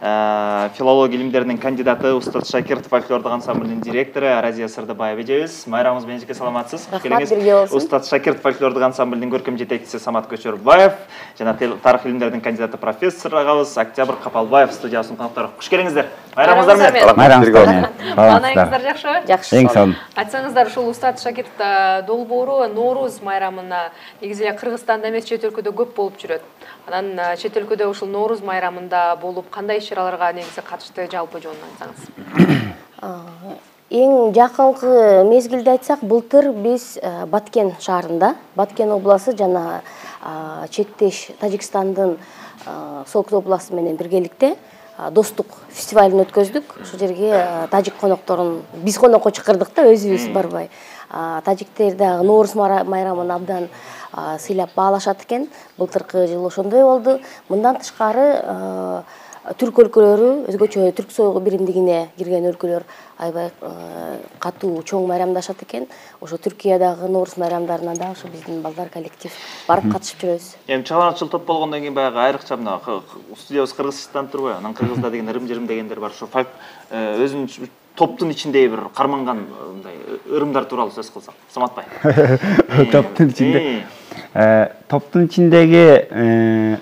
филология илимдеринин кандидаты, Устат Шакиров фольклордук ансамблдин директору Аразия Сырдыбаева эжебиз. Майрамыңыз менен жеке саламатсыз. Рахмат, бирге болсун. Устат Шакиров фольклордук ансамблдин көркөм жетекчиси Самат Көчөрбаев жана тарых илимдеринин кандидаты профессор агабыз Октябрь Капалбаев студиябыздын коноктору. Куш келиңиздер. Майрамыңыздар менен. Майрамыңыздар менен. Маанайыңыздар жакшыбы? Жакшы. Эң сонун. Айтсаңыздар, ушул Устат Шакиров долбоору Норуз майрамына негизи эле Кыргызстанда эмес, чет өлкөдө көп болуп жүрөт. Анан чет өлкөдө ушул Норуз майрамында болуп кандай иш-чараларга негизи катышты, жалпы жөнүндө айтсаңыз. Эң жакынкы мезгилде айтсак, былтыр биз Баткен шаарында, Баткен областы жана чектеш Тажикстандын Солкут областы менен биргеликте достук фестивалын өткөздүк. Ошол жерге тажик конокторун биз конокко чакырдык да, өзүбүз барбай. Тажиктер дагы Норуз майрамын абдан сыйлап баалашат экен. Былтыркы жылы ошондой болду. Мындан тышкары түрк өлкөлөрү, өзгөчө түрк союгу биримдигине кирген өлкөлөр аябай катуу чоң майрамдашат экен. Ошо Түркиядагы Норуз майрамдарына да ошо биздин балдар коллектив барып катышып жүрөбүз. Эми чыгармачыл топ болгондон кийин баягы айрыкча мына студиябыз Кыргызстандан турбайбы? Анан Кыргызда деген ырым-жырым дегендер бар. Ошо өзүнүн топтун ичиндеги бир карманган мындай ырымдар тууралуу сөз кылсак. Саматбай. Топтун ичиндеги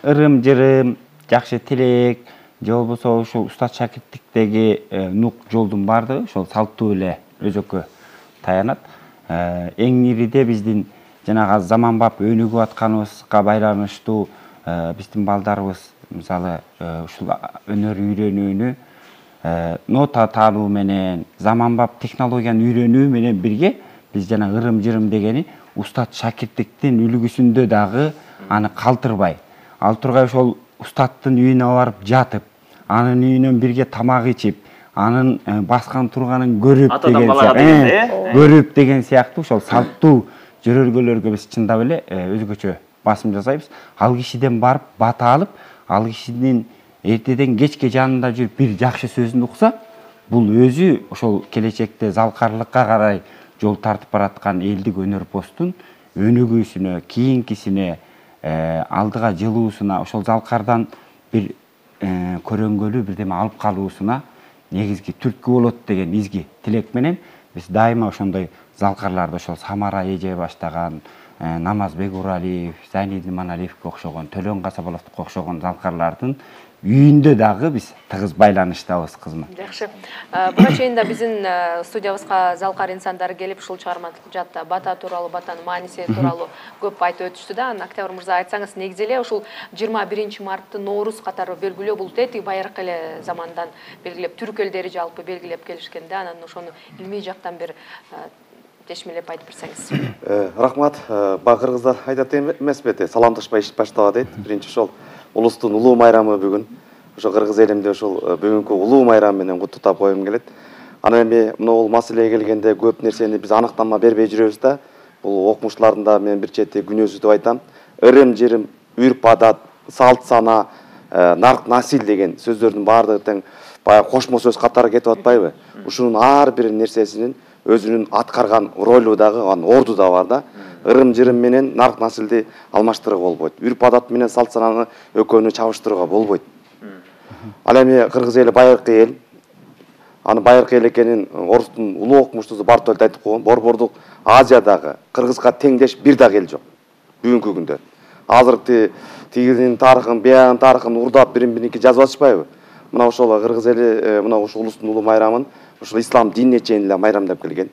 ырым-жырым, жакшы тилек, же болбосо ушул Устат Шакировдиктеги нук жолдун баардыгы ошол салттуу эле өзөккө таянат. Эң ириде биздин жанагы заманбап өнүгүп атканыбызга байланыштуу биздин балдарыбыз мисалы ушул өнөр үйрөнүүнү нота таануу менен, заманбап технологияны үйрөнүү менен бирге биз жана ырым-жырым дегени Устат Шакировдиктин үлгүсүндө дагы аны калтырбай, ал тургай ошол Устаттын үйүнө барып жатып, анын үйүнөн бирге тамак ичип, анын баскан турганын көрүп деген сыяктуу ошол салттуу жөрөлгөлөргө биз чындап эле өзгөчө басым жасайбыз. Ал кишиден барып бата алып, ал кишинин эртеден кечке жанында жүрүп бир жакшы сөзүн укса, бул өзү ошол келечекте залкарлыкка карай жол тартып бараткан элдик өнөрпоздун өнүгүүсүнө, кийинкисине, алдыга жылуусуна, ошол залкардан бир көрөнгөлүү бирдеме алып калуусуна негизги түрткү болот деген изги тилек менен биз дайыма ошондой залкарларды ошол Самара эже баштаган, Намазбек Уралиев, Зайнидин Маналиевке окшогон, Төлөн Касабаловдука окшогон залкарлардын үйүндө дагы биз тыгыз байланыштабыз кызмат. Жакшы. Буга чейин да биздин студиябызга залкар инсандар келип ушул чыгармачылыкта бата тууралуу, батанын мааниси тууралуу көп айтып өтүштү да. Октябрь мырза, айтсаңыз, негизи эле ушул 21 мартты Норуз катары белгилөө бул тети байыркы эле замандан белгилеп, түрк элдери жалпы белгилеп келишкен да. Анан ошону илмий жактан бир чечмелеп айтып берсеңиз. Рахмат. Бага кыргыздар айтат эмеспи, саламдашпай иш баштаба дейт. Биринчи ошол улустун улуу майрамы бүгүн. Ошо кыргыз элимде ошол бүгүнкү улуу майрам менен куттуктап койгум келет. Анан эми бул маселеге келгенде көп нерсени биз аныктама бербей жүрөбүз да. Бул окумуштуулардын да мен бир чети күнөөсү деп айтам. Ырым-жырым, үрп-адат, салт сана, нарк насил деген сөздөрдүн баардыгы тең баягы кошмо сөз катары кетип атпайбы? Ушунун ар бир нерсесинин өзүнүн аткарган ролу дагы, орду да бар да. Ырым-жырым менен нарк насилди алмаштырууга болбойт. Үрп-адат менен салт сананы экөөнү чабыштырууга болбойт. Ал эми кыргыз эли байыркы эл. Аны байыркы эл экенин орустун улуу окумуштуусу Бартольд айтып койгон. Борбордук Азиядагы кыргызга теңдеш бир дагы эл жок бүгүнкү күндө. Азыр тигинин тарыхын, биягынын тарыхын урдап бирин-бириники жазып атышпайбы? Мына ошол кыргыз эли мына ушул улустун улуу майрамын ушул ислам динине чейин эле майрамдап келген.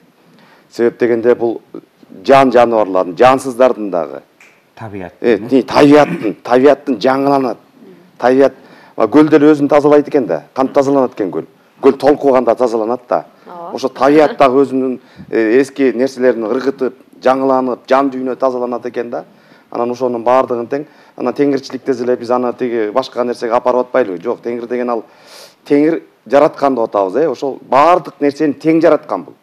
Себеп дегенде бул жан жаныбарлардын, жансыздардын дагы табияттын жаңыланат. Табият көл деле өзүн тазалайт экен да. Кантип тазаланат экен көл? Көл толкуганда тазаланат да. Ошо табият дагы өзүнүн эски нерселерин ыргытып, жаңыланып, жан дүйнө тазаланат экен да. Анан ошонун баардыгын тең, анан теңирчиликте эле биз аны тиги башка нерсеге апарып атпайлыбы? Жок, теңир деген ал теңир жараткан деп атабыз, ошол баардык нерсени тең жараткан бул.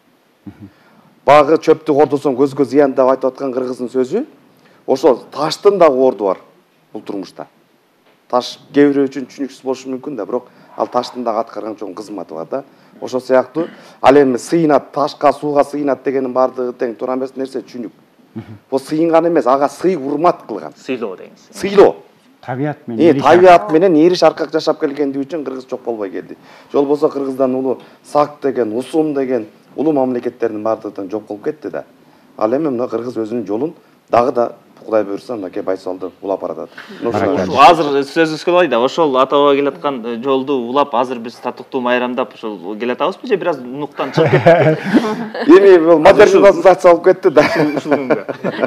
Багы чөптү кордосоң көзгө зыян деп айтып аткан кыргыздын сөзү, ошол таштын дагы орду бар бул турмушта. Таш кээ бирөө үчүн түшүнүксүз болушу мүмкүн да, бирок ал таштын дагы аткарган чоң кызматы бар да. Ошол сыяктуу ал эми сыйынат, ташка, сууга сыйынат дегенин баардыгы тең туура эмес нерсе, түшүнүк. Бул сыйынган эмес, ага сый урмат кылган. Сыйлоо дегенсиз. Сыйлоо. табият менен табият менен ириш аркак жашап келгендиги үчүн кыргыз жок болбой келди. Жол болсо Кыргыздан улуу Сак деген, Усум деген улуу мамлекеттердин баардыгынан жок болуп кетти да. Ал эми мына Кыргыз өзүнүн жолун дагы да Кудай буйрса мынакей Байсалды улап баратат. Азыр сөзүбүз кылбай да ошол ата баба келаткан жолду улап азыр биз татыктуу майрамдап ошол келатабызбы же бир аз нуктан чыгып кетти? Эми бул модернизация болуп кетти да.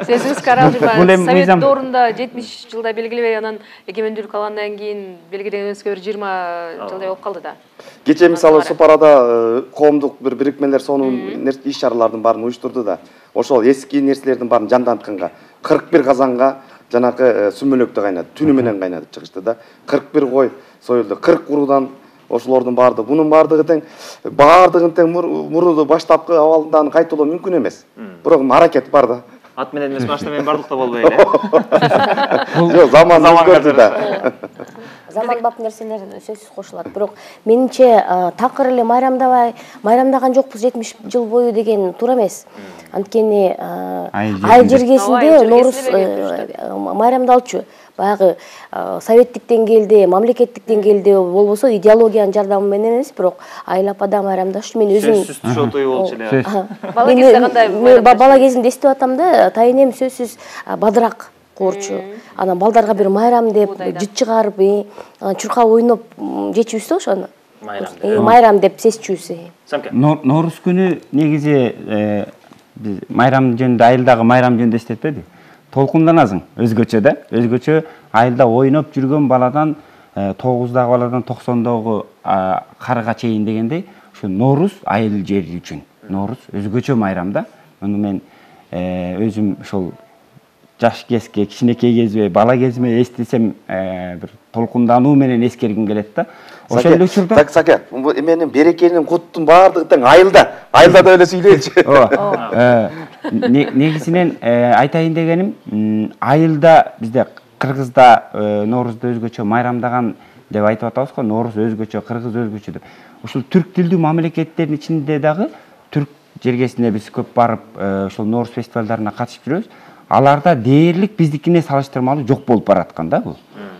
Сөзүңүз каралжы. Совет доорунда 70 жылда белгилебей анан эгемендүүлүк алгандан кийин белгиленүүсүгө бир 20 жылдай болуп калды да. Кечээ мисалы Сопарада коомдук бир бирикмелер сонун иш-чаралардын баарын уюштурду да. Ошол эски нерселердин баарын жандантканга 41 казанга жанакы сүмөлөктү кайнатып, түнү менен кайнатып чыгышты да. 41 кой союлду, 40 куруудан ошолордун баардыгы, бунун баардыгын тең мурду баштапкы абалынан кайталоо мүмкүн эмес. Бирок аракет бар да. Ат менен эмес, машина менен бардык да болбой эле. Жок, заман өзгөрдү да. Заманбап нерселер сөзсүз кошулат. Бирок менимче такыр эле майрамдаган жокпуз 70 жыл бою деген туура эмес. Анткени айыл жергесинде Нооруз майрамдалчу. Баягы советтик деңгээлде, мамлекеттик деңгээлде болбосо идеологиянын жардамы менен эмес, бирок айыл апада майрамдашчу. Мен өзүм сөзсүз түшө тою болчу эле. Бала кезде кандай? Бала кезимде эстеп атам да, тайынем сөзсүз бадырак коорчу. Анан балдарга бир майрам деп жыт чыгарып, чуркап ойноп жечүбүз да ошону. Майрам деп сезчүбүз. Нооруз күнү негизи биз майрам жөнүндө, айылдагы майрам жөнүндө эстетпедик. Толкунданасың өзгөчө да. Өзгөчө айылда ойноп жүргөн баладан 9дагы баладан 90дагы карыга чейин дегендей, ушу Нооруз айыл жери үчүн. Нооруз өзгөчө майрам да. Муну мен өзүм ошол жаш кезге, кичинекей кезиме, бала кезиме эстесем бир толкундануу менен эскергим келет да. Ошол эле учурда Саке, менин берекенин куттун баардыгы тең айылда. Айылда да эле сүйлөйчү. Негизинен айтайын дегеним, айылда бизде Кыргызда Ноорузду өзгөчө майрамдаган деп айтып атабыз го. Нооруз өзгөчө, Кыргыз өзгөчө деп. Ушул түрк тилдүү мамлекеттердин ичинде дагы түрк жергесине биз көп барып, ошол Нооруз фестивалдарына катышып жүрөбүз. Аларда дээрлик биздикине салыштырмалуу жок болуп бараткан да бул.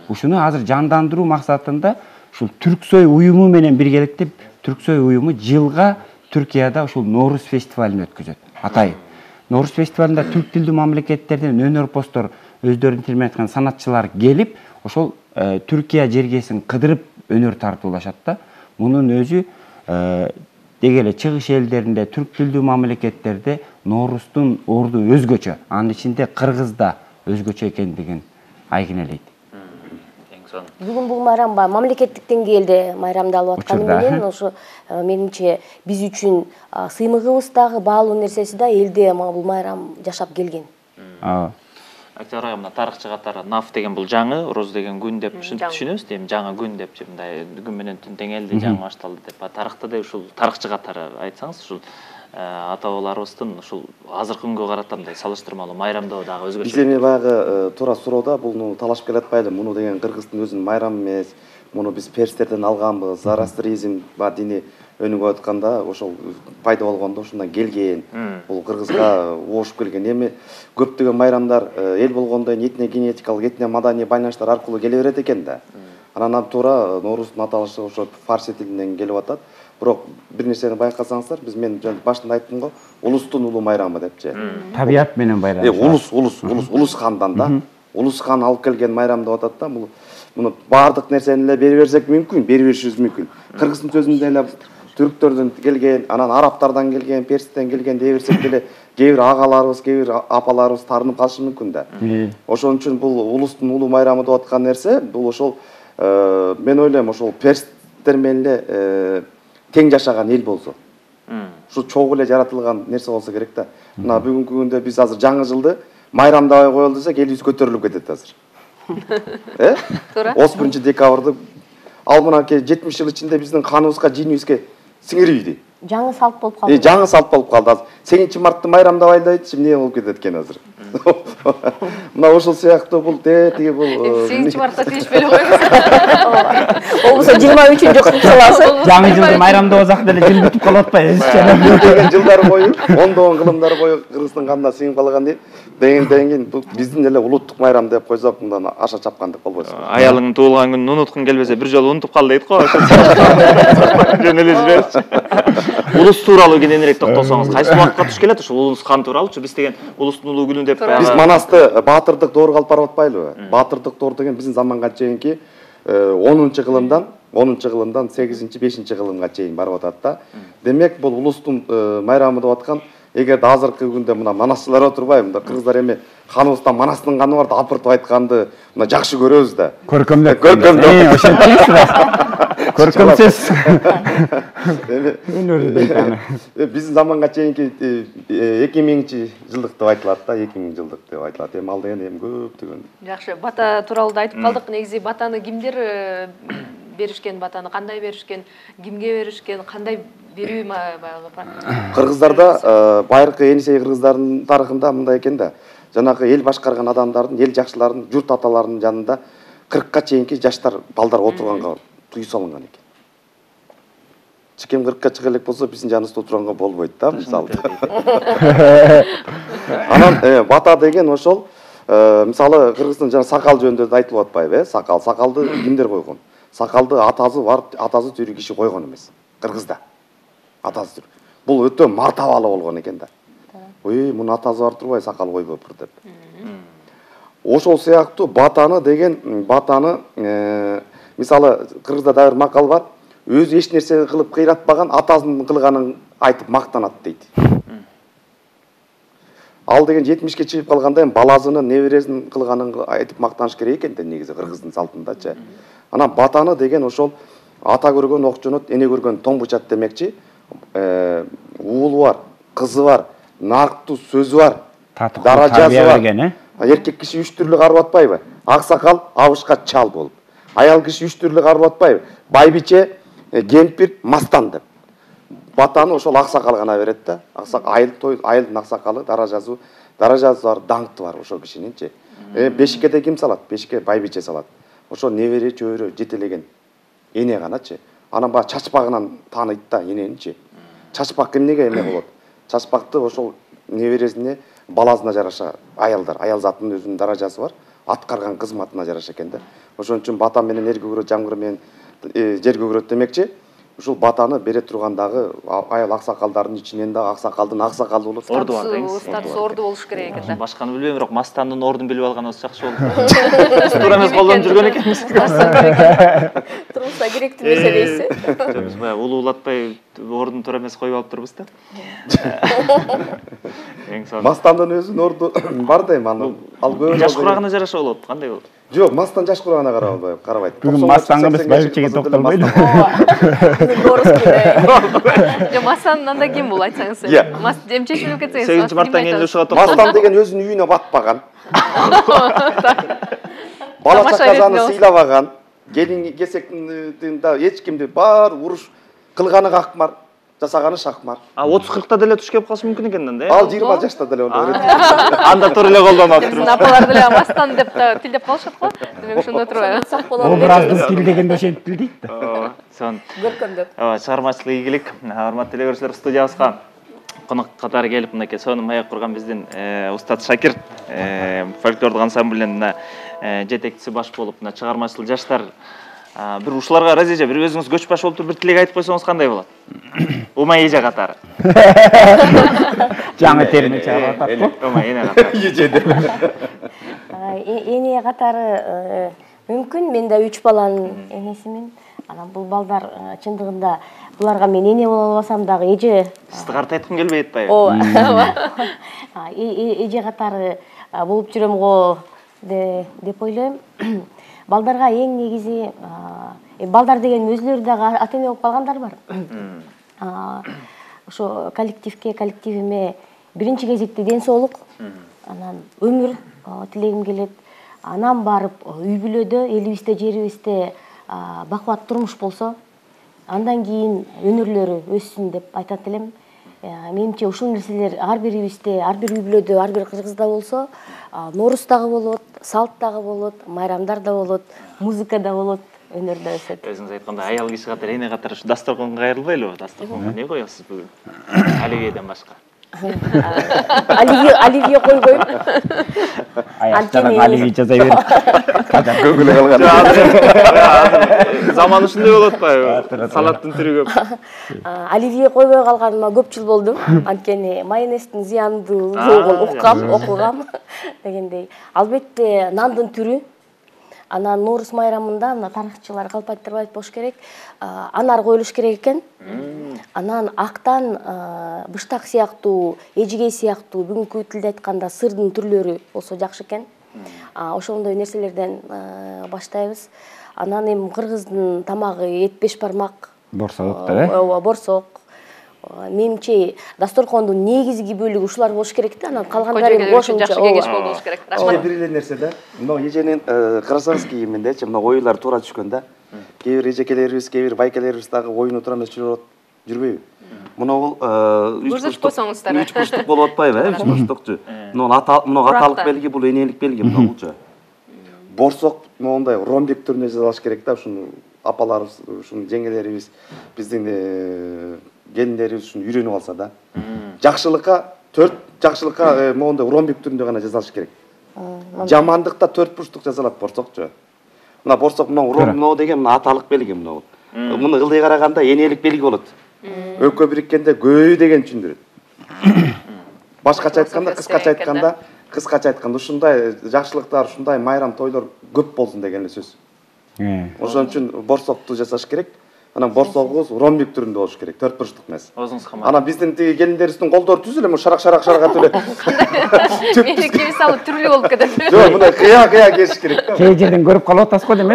Ушуну азыр жандандыруу максатында ушул Түрксой уюму менен биргеликте Түрксой уюму жылга Түркияда ушул Нооруз фестивалын өткөзөт. Атайын. Нооруз фестивалында түрк тилдүү мамлекеттерден өнөрпоздор, өздөрүнүн тили менен айткан санатчылар келип, ошол Түркия жергесин кыдырып өнөр тартуулашат да. Мунун өзү деги эле чыгыш элдеринде, түрк тилдүү мамлекеттерде Ноорустун орду өзгөчө, анын ичинде Кыргызда өзгөчө экендигин айгинелейт. Бүгүн бул майрам мамлекеттик деңгээлде майрамдалып атканы менен ошо менимче биз үчүн сыймыгыбыз дагы, баалуу нерсеси да элде бул майрам жашап келген. Актер айга мына тарыхчы катары наф деген бул жаңы, уруз деген күн деп түшүнөбүз, эми жаңы күн деп, мындай күн менен түн теңелди, жаңы башталды деп. Тарыхта да ушул тарыхчы катары айтсаңыз, ушул ата бабаларыбыздын ушул азыркы күнгө карата мындай салыштырмалуу майрамдоо дагы өзгөчө. Биз эми баягы туура суроодо буну талашып келатпайлы. Муну деген Кыргыздын өзүнүн майрамы эмес. Муну биз перстерден алганбыз. Зарастризм дини өнүгүп атканда ошол пайда болгондо ушундан келген. Бул Кыргызга оошуп келген. Эми көптөгөн майрамдар эл болгондо этне генетикалык, этне маданий байланыштар аркылуу келе берет экен да. Анан туура Нооруздун аталышы ошо фарси тилинен келип атат. Бирок бир нерсени байкасаңыздар, мен башында айттым го, улустун улуу майрамы депчи. Табият менен байрам. Улус хандан да. Улус хан алып келген майрам деп атат да. Муну баардык нерсени эле бери берсек мүмкүн, бери беришибиз мүмкүн. Кыргыздын сөзүндө эле түрктөрдөн келген, анан арабтардан келген, перстен келген дей берсек деле кээ бир агаларыбыз, кээ бир апаларыбыз таарынып калышы мүмкүн да. Ошон үчүн бул улустун улуу майрамы деп аткан нерсе, бул ошол мен ойлойм ошол персттер менен эле тең жашаган эл болсо. Ушу чогуу эле жаратылган нерсе болсо керек да. Мына бүгүнкү күндө биз азыр жаңы жылды майрамдабай коелу десек, элибиз көтөрүлүп кетет азыр. Туура. 31 декабрды ал мына 70 жыл ичинде биздин каныбызга, жинибизге сиңирбейди. жаңы салт болуп калды. Жаңы салт болуп калды. 8 мартты майрамдабайлы айтчы, эмне болуп кетет экен азыр. Мына ошол сыяктуу бул тиги бул 8 мартта тийишпей эле койбуз. Болбосо 23-күндө кылып саласыз. Жаңы жылды майрамдабасак деле жыл бүтүп калып атпайбы? деген жылдар бою, ондогон кылымдар бою Кыргыздын канына сиңип калган дейм. Деген бул биздин эле улуттук майрам деп койсок, мындан аша чапкандык болбойт. Аялыңдын туулган күнүн унуткун келбесе, бир жолу унутуп кал дейт го. Жөн эле жиберчи. Улус тууралуу кененирээк токтолсоңуз, кайсы убакытка туш келет ушул улус кан тууралуучу? Биз деген улустун улуу күнү деп Биз манасты баатырдык доорго алып барып атпайлыбы? Баатырдык доор деген биздин заманга чейинки 10-чы кылымдан 8-5 кылымга чейин барып атат да. Демек бул улустун майрамы деп аткан, эгерде азыркы күндө мына манасчылар отурбайбы, мында кыргыздар эми ханыбыздан манастын каны бар да апыртып айтканды мына жакшы көрөбүз да. Көркөмдөп. Көркөмсөз. Биздин заманга чейинки 2000-жылдык деп айтылат да, 2000-жылдык деп айтылат. Эми ал деген эми көптөгөн. Жакшы, бата тууралуу да айтып калдык. Негизи батаны кимдер беришкен, батаны кандай беришкен, кимге беришкен, кандай берүү баягы Кыргыздарда байыркы Енисей кыргыздардын тарыхында мындай экен да. Жанагы эл башкарган адамдардын, эл жакшылардын, журт аталарынын жанында 40ка чейинки жаштар, балдар отурганга тыюу салынган экен. Чекем 40ка чыга элек болсо, биздин жаныбызда отурганга болбойт да, мисалы. Анан бата деген ошол мисалы Кыргыздын жана сакал жөнүндө да айтылып атпайбы, сакалды кимдер койгон? Сакалды атасы бар, атасы тирүү киши койгон эмес. Кыргызда. Атасы тирүү. Бул өтө мартабалуу болгон экен да. Ой, мунун атасы бар турбай сакал койбоптур деп. Ошол сыяктуу батаны деген мисалы Кыргызда да бир макал бар. Өзү эч нерсе кылып кыйратпаган атасынын кылганын айтып мактанат дейт. Ал деген 70ке чыгып калганда эми баласынын, небересинин кылганын айтып мактаныш керек экен да негизи Кыргыздын салтындачы. Анан батаны деген ошол ата көргөн окчонот, эне көргөн тоңбучат демекчи. Уулу бар, кызы бар, нарктуу сөзү бар, даражасы бар. Эркек киши 3 түрлүү карып атпайбы? Аксакал, абышка, чал болуп. Аял киши 3 түрлүү карып атпайбы? Байбиче, кемпир, мастан деп. Батаны ошол аксакал гана берет да. Айылдын аксакалы, даражасы бар, даңкты бар ошол кишининчи. Бешиккеде ким салат? Бешикке байбиче салат. Ошол небере, чөбөрө, жетелеген эне ганачы. Анан баа чачпагынан тааныйт да эненичи. Чачпак эмнеге эме болот? Чачпакты ошол небересине, баласына жараша аял затынын өзүнүн даражасы бар, аткарган кызматына жараша экен да. Ошон үчүн бата менен эр көгөрөт, жамгыр менен жер көгөрөт демекчи. Ушул батаны бере тургандагы аял аксакалдардын ичинен да аксакалдын аксакалы болот. Орду бар деңиз. Статусу орду болуш керек экен да. Башканы билбейм, бирок мастандын ордун билип алганыбыз жакшы болду. Туура эмес колдонуп жүргөн экенбиз. Турмушта керектүү нерсе Жок, биз баягы улуулатпай ордун туура эмес коюп алып турбуз да. Мастандын өзүнүн орду бар да эми аны. Ал көбүнчө жаш курагына жараша болот, кандай болот? Жок, мастан жаш курагына карабайт. Бүгүн мастанга эмес, байбичеге токтолбойду. Жок, мастан анда ким бул айтсаңыз? Чечилип кетсеңиз. 8 марттан кийин ушуга токтолду. Мастан деген өзүнүн үйүнө батпаган. Бала чакасаны сыйлабаган, келин кесектин да эч кимди бар уруш кылганы какмар, жасаганы шакмар. 30-40та деле туш келип калышы мүмкүн экен да, э? Ал 20 жашта деле болот. Анда туура эле колдонуп Биздин апалар деле мастан деп тилдеп калышат го. Демек ошондо турбайбы? Образдын тил дегенде ошентип тилдейт да. Ооба, сон. Көркөмдөп. Чыгармачылык ийгилик. Урматтуу телекөрүүчүлөр, студиябызга конок катары келип мынакей сонун маек курган биздин Устат Шакир фольклордук ансамблинин жетекчиси баш болуп, мына чыгармачыл жаштар бир ушуларга разеже бир өзүңүз көч баш болуп туруп бир тилек айтып койсоңуз кандай болот? Умай эже катары. Жаңы терме чыгарып атат го. Умай эне катары. Эне катары мүмкүн, мен да 3 баланын энесимин. Анан бул балдар чындыгында буларга мен эне боло албасам дагы эже. Сизди карта айткым келбей атпайбы? Ооба. Эже катары болуп жүрөм го деп ойлойм. Балдарга эң негизи балдар деген өзүлөрү дагы ата эне болуп калгандар бар. Ошо коллективиме биринчи кезекте ден соолук, анан өмүр тилегим келет. Анан барып үй бүлөдө, элибизде, жерибизде бакубат турмуш болсо, Андан кийин өнөрлөрү өссүн деп айтат элем. Менимче ушул нерселер ар бирибизде, ар бир үй бүлөдө, ар бир кыргызда болсо, нооруз дагы болот, салт дагы болот, майрамдар да болот, музыка да болот, өнөр да өсөт. Өзүңүз айткандай аял киши катары, эне катары ушу дасторконго кайрылбайлыбы? Дасторконго эмне коесуз бүгүн? Оливьеден башка. Оливье койбойм. Аяктан оливье жасай берип. Көңүлү калган. Заман ушундай болуп атпайбы? Салаттын түрү көп. Оливье койбой калганыма көп жыл болду. Анткени майонездин зыяндуулугун окугам дегендей. Албетте нандын түрү. Анан нооруз майрамында мына тарыхчылар калп айтып болуш керек. Анар коюлуш керек экен. Анан актан быштак сыяктуу, эжигей сыяктуу бүгүнкү тилде айтканда сырдын түрлөрү болсо жакшы экен. Ошондой нерселерден баштайбыз. Анан эми кыргыздын тамагы эт беш бармак. Борсок да, Ооба, борсок. Менимче дасторкондун негизги бөлүгү ушулар болуш керек да. Анан калгандары кошумча. Жакшы кеңеш болуш керек. Рахмат. Бир эле нерсе да. Мына эженин карасаңыз кийиминдечи мына оюлар туура түшкөн да. Кээ бир эжекелерибиз, кээ бир байкелерибиз дагы оюну туура эмес жүрбөйбү? Мына бул көрсөтүп койсоңуздар. 3 бурчтук болуп атпайбы, 3 бурчтукчу. Мына аталык белги, бул энелик белги мына булчу. Борсок моундай ромбик түрүнө жасалыш керек да, ушуну апаларыбыз, ушуну жеңелерибиз, биздин келиндерибиз ушуну үйрөнүп алса да. Жакшылыкка моундай ромбик түрүндө гана жасалыш керек. Жамандыкта 4 бурчтук жасалат борсокчу. Мына борсок мына деген мына аталык белги мына. Муну ылдый караганда энелик белги болот. Өккө бириккенде көй деген түшүндүрөт. Башкача айтканда, кыскача айтканда ушундай жакшылыктар, ушундай майрам тойлор көп болсун деген эле сөз. Ошон үчүн борсокту жасаш керек. Анан борсогубуз ромбик түрүндө болуш керек, 4 бурчтук эмес. Анан биздин тиги келиндерибиздин колдору түз эле, шарак атып эле. Мени кийип салып түрлүү болуп кетет. Жок, мына кыя кеш керек да. Кээ жерден көрүп калып атасыз го дейм,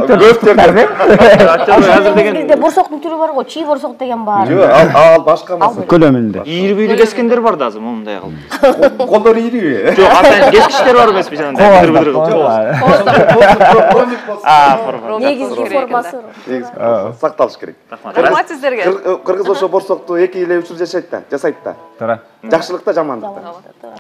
Азыр деген борсоктун түрү бар го, чий борсок деген бар. Жок, ал башка маселе. көлөмүндө. Ийри-бүйрү кескендер бар да азыр мындай кылып. Колдору ийриби? Жок, атайын кескичтер бар эмеспи жанагындай. Негизги формасы. Сакталыш керек. Рахмат сиздерге. Кыргыз ошо борсокту 2 эле 3 жыл жасайт да. Туура. Жакшылыкта, жамандыкта.